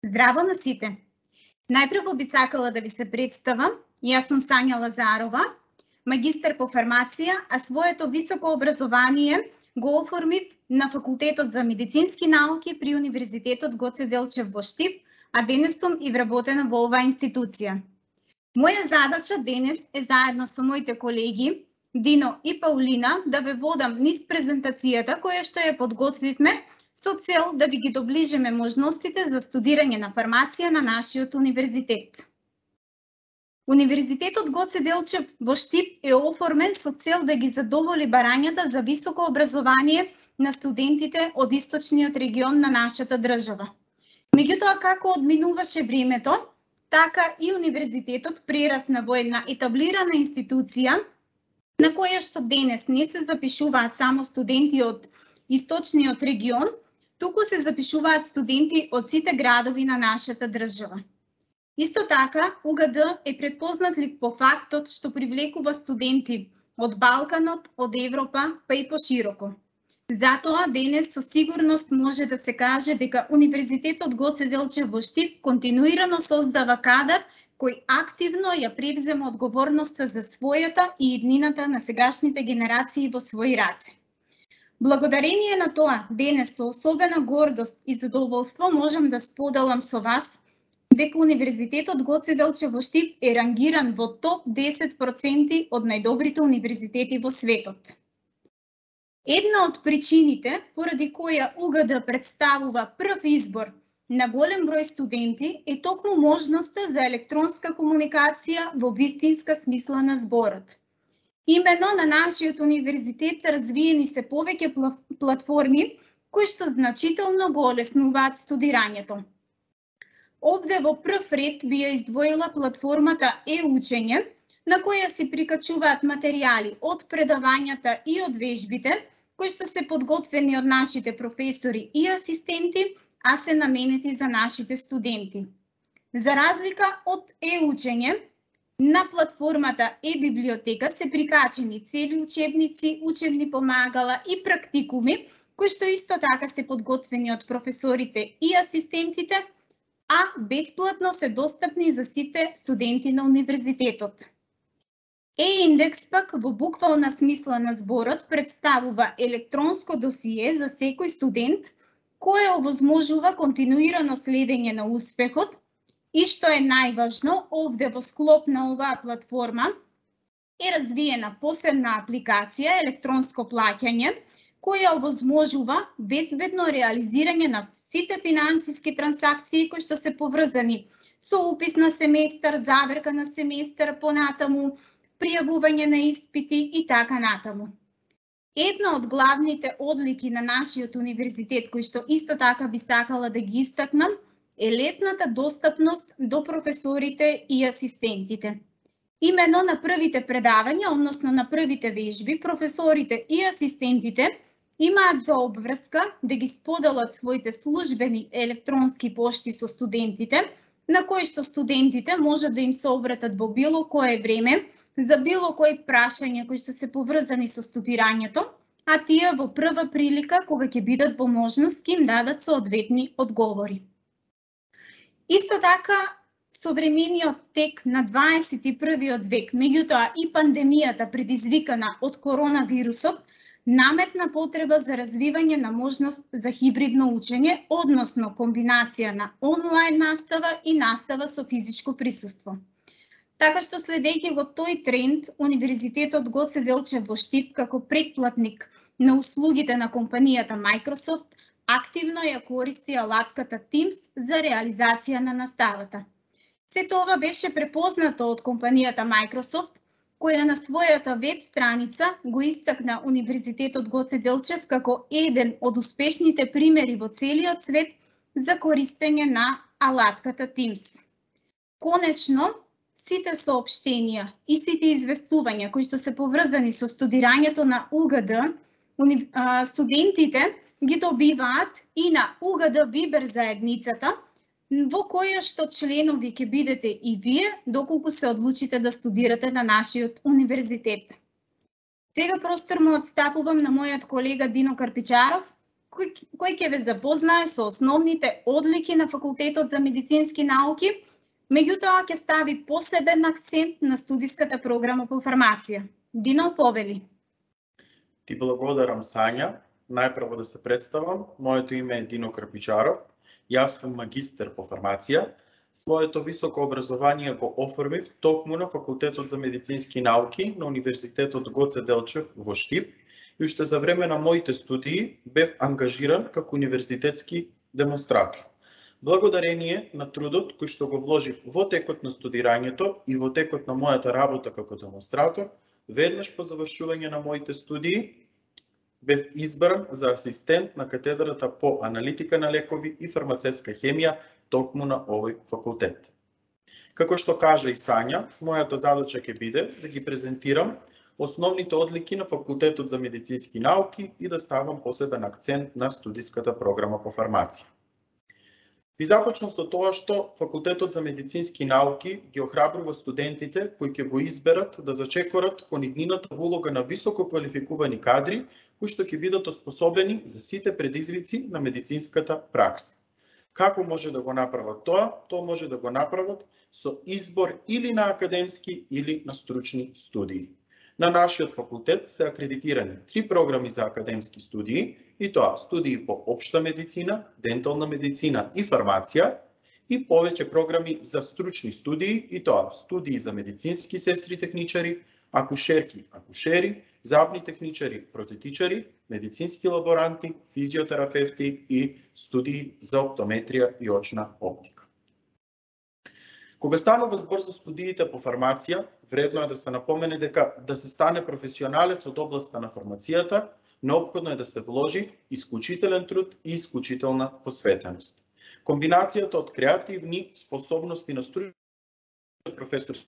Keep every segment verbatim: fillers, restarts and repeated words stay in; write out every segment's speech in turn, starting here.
Здраво на сите! Најпрво би сакала да ви се представам. Јас сум Сања Лазарова, магистар по фармација, а своето високо образование го оформив на Факултетот за медицински науки при Универзитетот Гоце Делчев во Штип, а денес сум и вработена во оваа институција. Моја задача денес е заедно со моите колеги Дино и Паулина да ве водам низ презентацијата која што ја подготвивме со цел да ви ги доближиме можностите за студирање на фармација на нашиот универзитет. Универзитетот Гоце Делчев во Штип е оформен со цел да ги задоволи барањата за високо образование на студентите од источниот регион на нашата држава. Меѓутоа, како одминуваше времето, така и универзитетот прерасна во една етаблирана институција на која што денес не се запишуваат само студенти од источниот регион, туку се запишуваат студенти од сите градови на нашата држава. Исто така, У Г Д е предпознатлив по фактот што привлекува студенти од Балканот, од Европа, па и пошироко. Затоа, денес со сигурност може да се каже дека Универзитетот Гоце Делчев во Штип континуирано создава кадар кој активно ја превзема одговорноста за својата и иднината на сегашните генерации во своји раце. Благодарение на тоа, денес со особена гордост и задоволство можам да споделам со вас дека Универзитетот Гоце Делчев во Штип е рангиран во топ десет проценти од најдобрите универзитети во светот. Една од причините поради која У Г Д представува прв избор на голем број студенти е токму можноста за електронска комуникација во вистинска смисла на зборот. Имено на нашиот универзитет развиени се повеќе платформи кои што значително го олеснуваат студирањето. Овде во прв ред би ја издвоила платформата Е-учење, на која се прикачуваат материјали од предавањата и од вежбите, кои што се подготвени од нашите професори и асистенти, а се наменети за нашите студенти. За разлика од Е-учење, на платформата Е-библиотека се прикачени цели учебници, учебни помагала и практикуми, кои што исто така се подготвени од професорите и асистентите, а бесплатно се достапни за сите студенти на универзитетот. Е-индекс пак во буквална смисла на зборот представува електронско досие за секој студент, кое овозможува континуирано следење на успехот и што е најважно, овде во склоп на оваа платформа е развиена посебна апликација електронско плаќање, која овозможува безбедно реализирање на сите финансиски трансакции кои што се поврзани со упис на семестар, заверка на семестар, понатаму, пријавување на испити и така натаму. Една од главните одлики на нашиот универзитет, кој што исто така би сакала да ги истакнам, е лесната достапност до професорите и асистентите. Имено на првите предавања, односно на првите вежби, професорите и асистентите имаат за обврска да ги споделат своите службени електронски пошти со студентите, на кои што студентите можат да им се обратат во било кое време, за било кои прашања кои што се поврзани со студирањето, а тие во прва прилика, кога ќе бидат во можност, ќе им дадат соодветни одговори. Исто така, современиот тек на дваесет и првиот век, меѓутоа и пандемијата предизвикана од коронавирусот, наметна потреба за развивање на можност за хибридно учење, односно комбинација на онлайн настава и настава со физичко присуство. Така што следејќи го тој тренд, Универзитетот Гоце Делчев во Штип како претплатник на услугите на компанијата Microsoft активно ја користи алатката Teams за реализација на наставата. Се тоа беше препознато од компанијата Microsoft, која на својата веб страница го истакна Универзитетот Гоце Делчев како еден од успешните примери во целиот свет за користење на алатката Teams. Конечно, сите соопштенија и сите известувања кои што се поврзани со студирањето на У Г Д, студентите ги добиваат и на У Г Д Вибер заедницата, во која што членови ќе бидете и вие, доколку се одлучите да студирате на нашиот универзитет. Сега простор му отстапувам на мојот колега Дино Карпичаров, кој, кој ќе ве запознае со основните одлики на Факултетот за медицински науки, меѓутоа ќе стави посебен акцент на студиската програма по фармација. Дино, повели. Ти благодарам, Сања. Најпрво да се представам. Моето име е Дино Крпичаров. Јас сум магистер по фармација. Своето високо образование го оформив токму на Факултетот за медицински науки на Универзитетот Гоце Делчев во Штип и уште за време на моите студии бев ангажиран како универзитетски демонстратор. Благодарение на трудот кој што го вложив во текот на студирањето и во текот на мојата работа како демонстратор, веднаш по завршување на моите студии бев избран за асистент на катедрата по аналитика на лекови и фармацевска хемија токму на овој факултет. Како што кажа и Сања, мојата задача ќе биде да ги презентирам основните одлики на Факултетот за медицински науки и да ставам посебен акцент на студиската програма по фармација. Ви започнам со тоа што Факултетот за медицински науки ги охрабрува студентите кои ќе го изберат да зачекорат кон иднината улога на високо квалификувани кадри кои што ќе бидат оспособени за сите предизвици на медицинската пракса. Како може да го направат тоа? Тоа може да го направат со избор или на академски или на стручни студии. На нашиот факултет се акредитирани три програми за академски студии, и тоа студии по општа медицина, дентална медицина и фармација, и повеќе програми за стручни студии, и тоа студии за медицински сестри техничари, акушерки, акушери, забни техничари, протетичари, медицински лаборанти, физиотерапевти и студии за оптометрија и очна оптика. Кога станува збор за студиите по фармација, вредно е да се напомене дека да се стане професионалец од областа на фармацијата, неопходно е да се вложи исклучителен труд и исклучителна посветеност. Комбинацијата од креативни способности на стручен професор,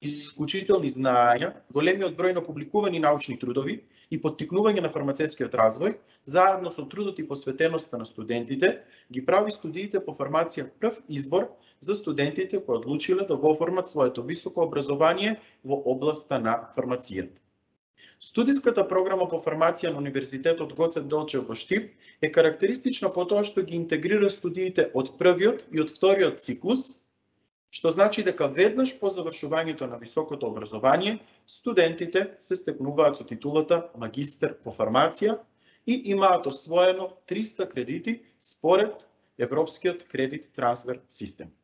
исклучителни знаења, големиот број на публикувани научни трудови и поттикнување на фармацевскиот развој, заедно со трудот и посветеноста на студентите, ги прави студиите по фармација прв избор за студентите кои одлучиле да го оформат своето високо образование во областа на фармацијата. Студиската програма по фармација на Универзитетот Гоце Делчев во Штип е карактеристична по тоа што ги интегрира студиите од првиот и од вториот циклус, што значи дека веднаш по завршувањето на високото образование, студентите се стекнуваат со титулата магистер по фармација и имаат освоено триста кредити според Европскиот кредит трансфер систем.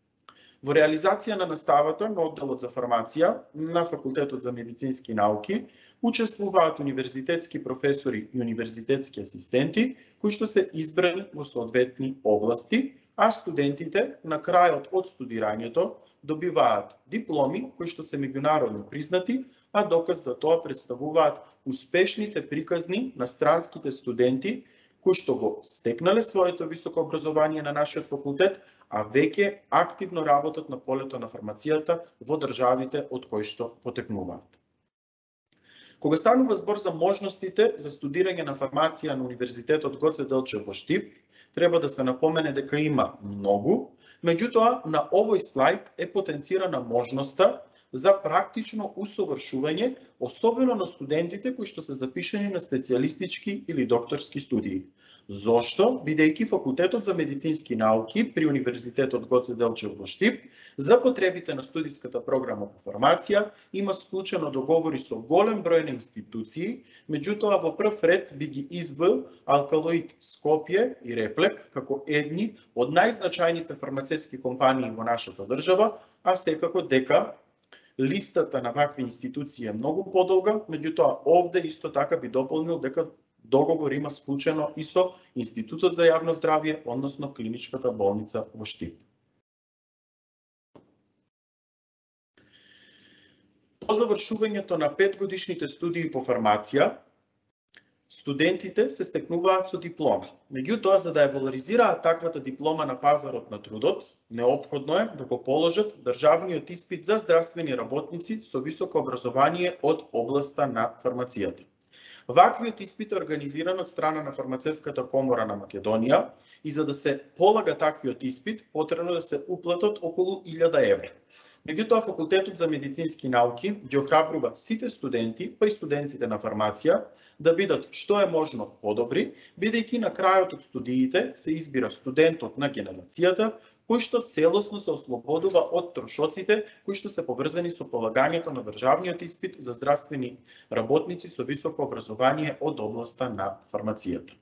Во реализација на наставата на одделот за фармација на Факултетот за медицински науки учествуваат универзитетски професори и универзитетски асистенти, кои што се избрани во соодветни области, а студентите на крајот од студирањето добиваат дипломи кои што се меѓународно признати, а доказ за тоа представуваат успешните приказни на странските студенти кои што го стекнале своето високо образование на нашиот факултет, а веќе активно работат на полето на фармацијата во државите од кои што потекнуваат. Кога станува збор за можностите за студирање на фармација на Универзитетот Гоце Делчев во Штип, треба да се напомене дека има многу, меѓутоа на овој слайд е потенцирана можноста за практично усовршување, особено на студентите кои што се запишани на специјалистички или докторски студии. Зошто? Бидејќи Факултетот за медицински науки при Универзитетот Гоце Делчев во Штип за потребите на студиската програма по фармација има склучено договори со голем број на институции, меѓутоа во прв ред би ги издвоил Алкалоид Скопје и Реплек како едни од најзначајните фармацевски компании во нашата држава, а секако дека листата на вакви институции е многу подолга, меѓутоа овде исто така би дополнил дека договор има склучено и со Институтот за јавно здравје, односно Клиничката болница во Штип. По завршувањето на петгодишните студии по фармација, студентите се стекнуваат со диплома. Меѓутоа, за да ја валоризираат таквата диплома на пазарот на трудот, неопходно е да го положат државниот испит за здравствени работници со високо образование од областа на фармацијата. Ваквиот испит е организиран од страна на Фармацевската комора на Македонија и за да се полага таквиот испит, потребно да се уплатат околу илјада евра. Меѓутоа, Факултетот за медицински науки ги охрабрува сите студенти, па и студентите на фармација, да бидат што е можно подобри, бидејќи на крајот од студиите се избира студентот на генерацијата, кој што целосно се ослободува од трошоците кои што се поврзани со полагањето на државниот испит за здравствени работници со високо образование од областа на фармацијата.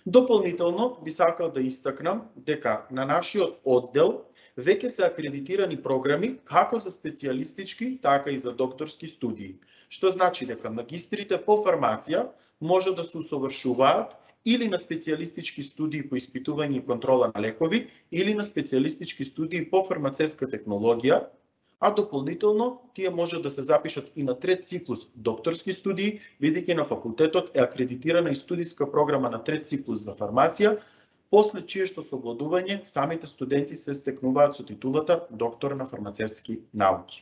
Дополнително би сакал да истакнам дека на нашиот оддел веќе се акредитирани програми како за специјалистички, така и за докторски студии, што значи дека магистрите по фармација може да се усовршуваат или на специјалистички студии по испитување и контрола на лекови, или на специјалистички студии по фармацевска технологија, а дополнително тие може да се запишат и на трет циклус докторски студии, бидејќи на факултетот е акредитирана и студиска програма на трет циклус за фармација, после чие што совладување самите студенти се стекнуваат со титулата доктор на фармацевски науки.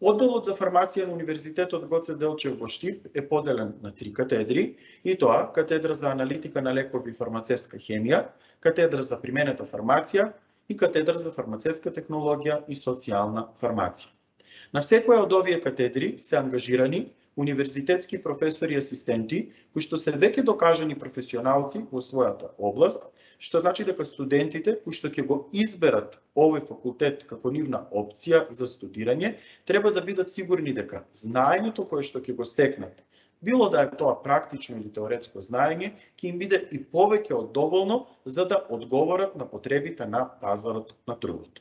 Одделот за фармација на Универзитетот Гоце Делчев во Штип е поделен на три катедри, и тоа катедра за аналитика на лекови и фармацевска хемија, катедра за применета фармација и катедра за фармацевска технологија и социјална фармација. На секоја од овие катедри се ангажирани универзитетски професори и асистенти, кои што се веќе докажани професионалци во својата област, што значи дека студентите кои што ќе го изберат овој факултет како нивна опција за студирање, треба да бидат сигурни дека знаењето кое што ќе го стекнат, било да е тоа практично или теоретско знаење, ќе им биде и повеќе од доволно за да одговорат на потребите на пазарот на трудот.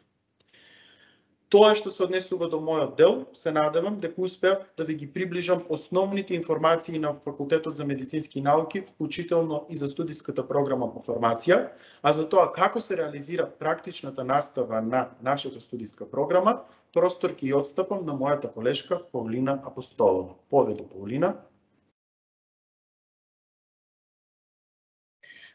Тоа што се однесува до мојот дел, се надевам дека успеав да ви ги приближам основните информации на Факултетот за медицински науки, вклучително и за студиската програма по фармација, а за тоа како се реализира практичната настава на нашата студиска програма, простор ќе ја отстапам на мојата колешка Паулина Апостолова. Поведу, Паулина.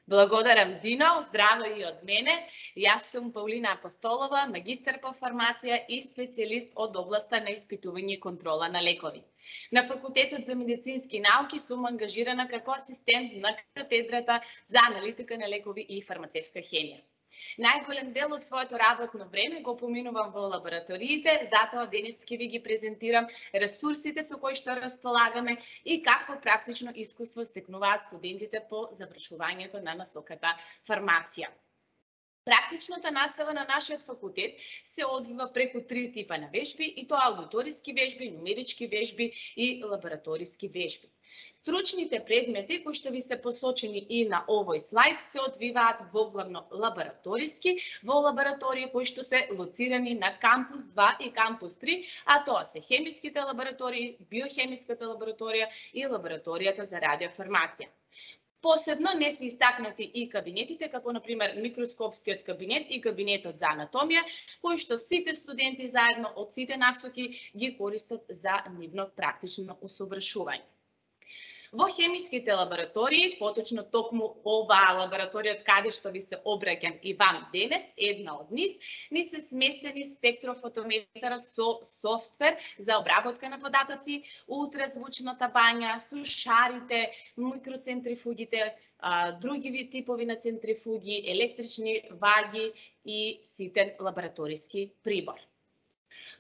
Благодарам, Дино. Здраво и од мене. Јас сум Паулина Апостолова, магистар по фармација и специјалист од областа на испитување и контрола на лекови. На Факултетот за медицински науки сум ангажирана како асистент на катедрата за аналитика на лекови и фармацевска хемија. Најголем дел од своето работно време го поминувам во лабораториите, затоа денес ќе ви ги презентирам ресурсите со кои што располагаме и какво практично искуство стекнуваат студентите по завршувањето на насоката фармација. Практичната настава на нашиот факултет се одвива преку три типа на вежби, и тоа аудиториски вежби, нумерички вежби и лабораториски вежби. Стручните предмети кои што ви се посочени и на овој слайд се одвиваат во главно лабораториски, во лаборатории кои што се лоцирани на кампус два и кампус три, а тоа се хемиските лаборатории, биохемиската лабораторија и лабораторијата за радиофармација. Посебно не се истакнати и кабинетите, како например микроскопскиот кабинет и кабинетот за анатомија, кои што сите студенти заедно од сите насоки ги користат за нивно практично усовршување. Во хемиските лаборатории, поточно токму оваа лабораторија каде што ви се обраќам и вам денес, една од нив, ни се сместени спектрофотометарот со софтвер за обработка на податоци, ултразвучната бања, сушарите, микроцентрифугите, други типови на центрифуги, електрични ваги и ситен лабораториски прибор.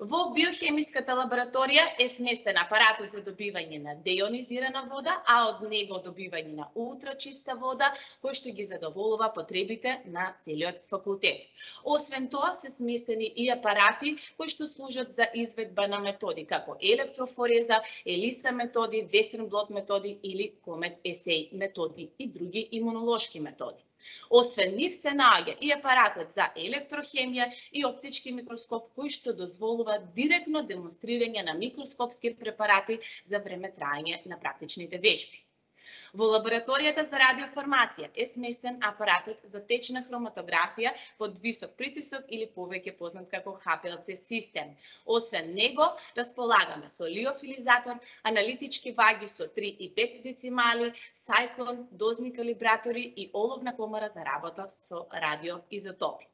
Во биохемиската лабораторија е сместен апаратот за добивање на деионизирана вода, а од него добивање на ултрачиста вода, кој што ги задоволува потребите на целиот факултет. Освен тоа се сместени и апарати кои што служат за изведба на методи како електрофореза, елиса методи, вестерн блот методи или комет есеј методи и други имунолошки методи. Освен нив се наоѓа и апаратот за електрохемија и оптички микроскоп кој што дозволува директно демонстрирање на микроскопски препарати за време траење на практичните вежби. Во лабораторијата за радиофармација е сместен апаратот за течна хроматографија под висок притисок или повеќе познат како Х П Л Ц систем. Освен него, располагаме со лиофилизатор, аналитички ваги со три и пет децимали, сајклон, дозни калибратори и оловна комара за работа со радиоизотопи.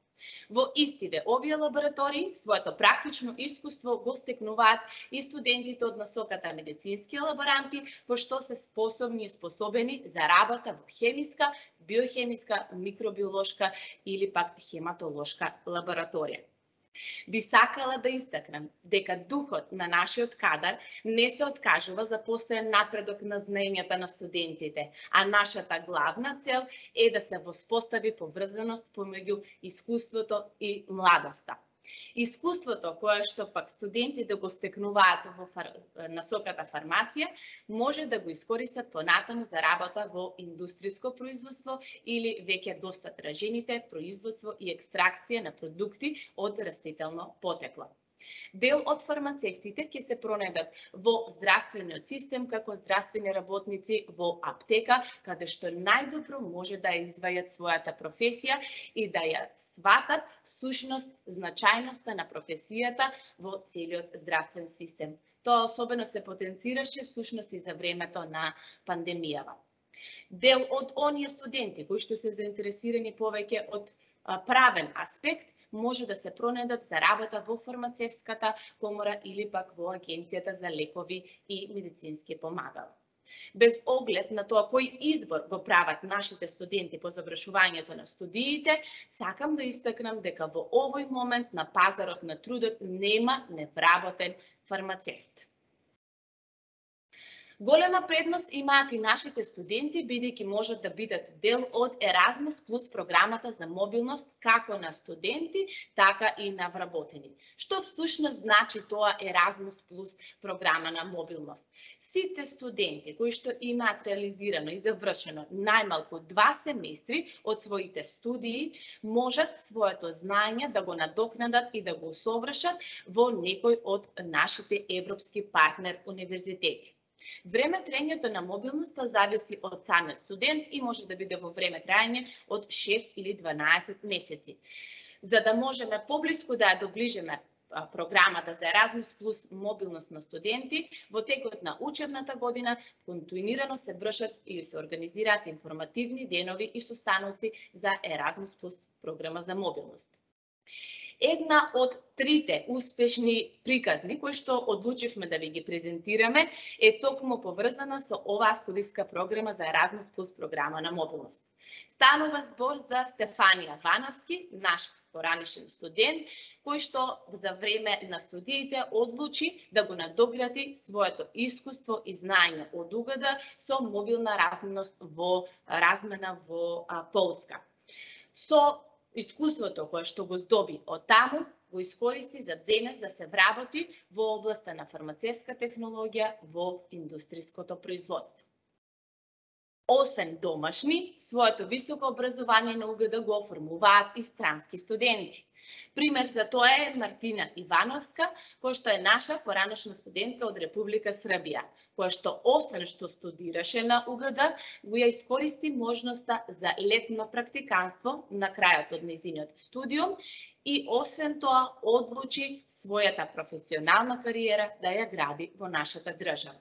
Во истиве овие лаборатории своето практично искуство го стекнуваат и студентите од насоката медицински лаборанти, во што се способни и способени за работа во хемиска, биохемиска, микробиолошка или пак хематолошка лабораторија. Би сакала да истакнам дека духот на нашиот кадар не се откажува за постојан напредок на знаењата на студентите, а нашата главна цел е да се воспостави поврзаност помеѓу искуството и младоста. Искуството кое што пак студентите го стекнуваат во фар... насоката фармација може да го искористат понатаму за работа во индустријско производство или веќе доста тражените производство и екстракција на продукти од растително потекло. Дел од фармацевтите ќе се пронедат во здравствениот систем како здравствени работници во аптека, каде што најдобро може да ја извајат својата професија и да ја сватат сушност, значајноста на професијата во целиот здравствен систем. Тоа особено се потенцираше всушност и за времето на пандемијава. Дел од оние студенти кои што се заинтересирани повеќе од правен аспект може да се пронедат за работа во фармацевската комора или пак во Агенцијата за лекови и медицински помагала. Без оглед на тоа кој избор го прават нашите студенти по завршувањето на студиите, сакам да истакнам дека во овој момент на пазарот на трудот нема невработен фармацевт. Голема предност имаат и нашите студенти, бидејќи можат да бидат дел од Еразмус плюс програмата за мобилност како на студенти, така и на вработени. Што всушност значи тоа Еразмус плюс програма на мобилност? Сите студенти кои што имаат реализирано и завршено најмалку два семестри од своите студии, можат своето знаење да го надокнадат и да го усовршат во некој од нашите европски партнер универзитети. Време траењето на мобилноста зависи од самиот студент и може да биде во време траење од шест или дванаесет месеци. За да можеме поблиску да ја доближиме програмата за Еразмус плюс мобилност на студенти, во текот на учебната година континуирано се вршат и се организираат информативни денови и состаноци за Еразмус плюс програма за мобилност. Една од трите успешни приказни кои што одлучивме да ви ги презентираме е токму поврзана со оваа студиска програма за Еразмус плюс програма на мобилност. Станува збор за Стефанија Вановски, наш поранешен студент, кој што за време на студиите одлучи да го надогради своето искуство и знаење од УГД со мобилна разменост во размена во а, Полска. Со искуството кое што го здоби од таму, го искористи за денес да се вработи во областа на фармацевска технологија во индустријското производство. Освен домашни, своето високо образование на УГД го оформуваат и странски студенти. Пример за тоа е Мартина Ивановска, која што е наша поранешна студентка од Република Србија, која што освен што студираше на УГД, го ја искористи можноста за летно практиканство на крајот од нејзиниот студиум и освен тоа одлучи својата професионална кариера да ја гради во нашата држава.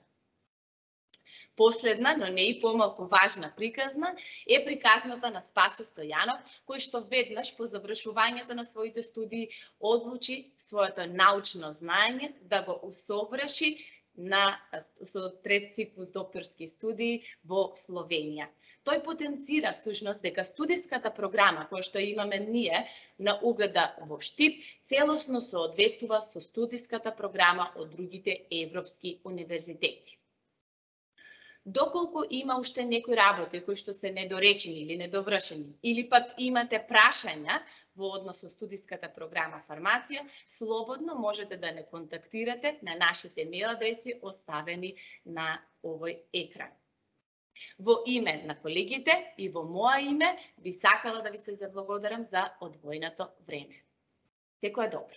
Последна, но не и помалку важна приказна е приказната на Спасе Стојанов, кој што веднаш по завршувањето на своите студии одлучи своето научно знаење да го усоврши на со трет циклус докторски студии во Словенија. Тој потенцира всушност дека студиската програма која што имаме ние на УГД во Штип целосно соодветствува со студиската програма од другите европски универзитети. Доколку има уште некои работи кои што се недоречени или недовршени, или пак имате прашања во однос со студиската програма фармација, слободно можете да не контактирате на нашите мејл адреси оставени на овој екран. Во име на колегите и во моја име би сакала да ви се заблагодарам за одвоеното време. Секое добро!